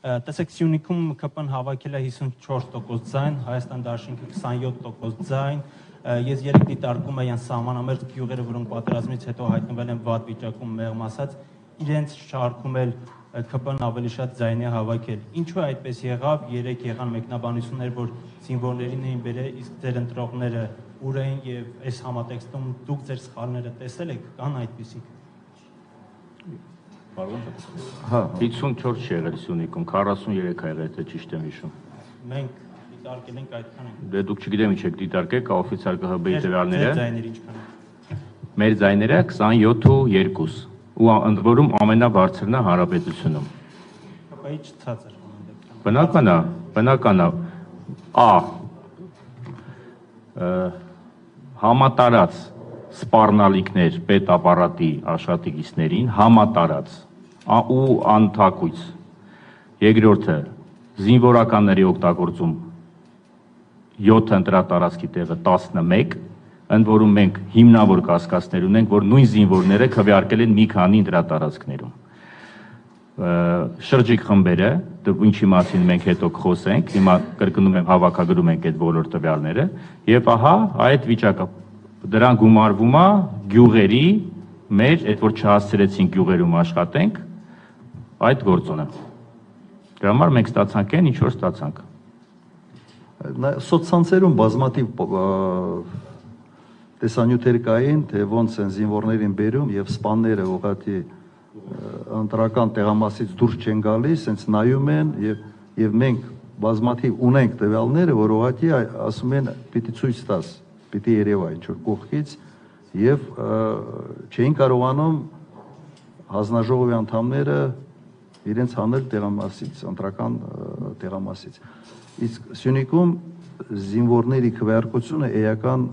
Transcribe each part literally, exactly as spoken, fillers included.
Տեսեք, Սյունիքում K P-ն հավաքել է հիսունչորս տոկոս ձայն, Հայաստան Դաշինքը քսանյոթ տոկոս ձայն, ես երեք դիտարկում եմ սահմանամերձ գյուղերը, որոնք պատերազմից հետո հայտնվել են վատ վիճակում, մեղմ ասած, իրենց շարքում էլ K P-ն ավելի շատ ձայն է հավաքել։ Ինչու այդպես եղավ, երեք եղան մեկնաբանություններ, որ զինվորներին էին բերել, իսկ ձեր ընտրողները ուր էին եւ այս համատեքստում դուք ձեր սխալները տեսել եք, կան այդպիսիք։ Հա, հիսունչորս չի եղել Սյունիքում, քառասուններեք ա եղել, թե ճիշտ եմ հիշում։ Մենք դիտարկել ենք այդքան ենք։ Դե դուք չգիտեմ ինչ եք դիտարկել, կա օֆիցիալ K H B-ի տվյալները։ Մեր ձայները ինչքան են։ Մեր ձայները քսանյոթ ու երկու, ու ընդ որում ամենաբարձրն է Հանրապետությունում։ K P-ի չցածր։ Բնական է, բնական է։ Ա համատարած սպառնալիքներ պետապարատի աշխատակիցներին, համատարած ու անթակույց։ Երկրորդը զինվորականների օգտագործում յոթ ընտրատարածքի տեղը տասնմեկ, ընդ որում մենք հիմնավոր կասկածներ ունենք, որ նույն զինվորները քվեարկել են մի քանի ընտրատարածքներում։ Շրջիկ խմբերը, ինչի մասին մենք հետո կխոսենք, հիմա կրկնում եմ, հավաքագրում ենք այդ բոլոր տվյալները, եւ ահա այդ վիճակը դրան գումարվում է գյուղերի մեր, այդ որ չհասցրեցինք գյուղերում աշխատենք, այդ գործոնը։ Դրա համար մենք ստացանք այն, ինչ որ ստացանք։ Սոցցանցերում բազմաթիվ տեսանյութեր կային, թե ոնց են զինվորներին բերում եւ սպաները ուղղակի ընտրական տեղամասից դուրս չեն գալիս, հենց նայում են եւ եւ մենք բազմաթիվ ունենք տվյալները, որ ուղղակի ասում են պիտի ցույց տաս, պիտի երևա ինչ որ կողքից եւ չէին կարողանում հանձնաժողովի անդամները իրենց հանել տեղամասից, ընտրական տեղամասից։ Իսկ Սյունիքում զինվորների քվեարկությունը էական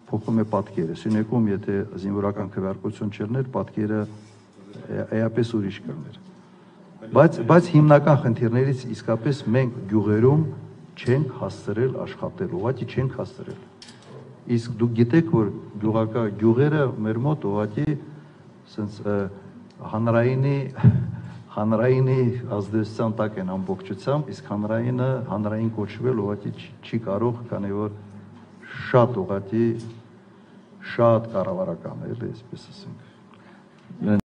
փոխում է պատկերը։ Սյունիքում եթե զինվորական քվեարկություն չլներ, պատկերը էապես ուրիշ կլներ։ Բայց բայց հիմնական խնդիրներից իսկապես մենք գյուղերում չենք հասցրել աշխատել, ուղղակի չենք հասցրել։ Իսկ դուք գիտեք, որ գյուղակա գյուղերը մեր մոտ ուղղակի ասենց հանրայինի հանրայինի ազդեցության տակ են ամբողջությամբ, իսկ հանրայինը հանրային կոչվել ուղղակի չի կարող, քանի որ շատ ուղղակի շատ կառավարական է, այսպես ասենք։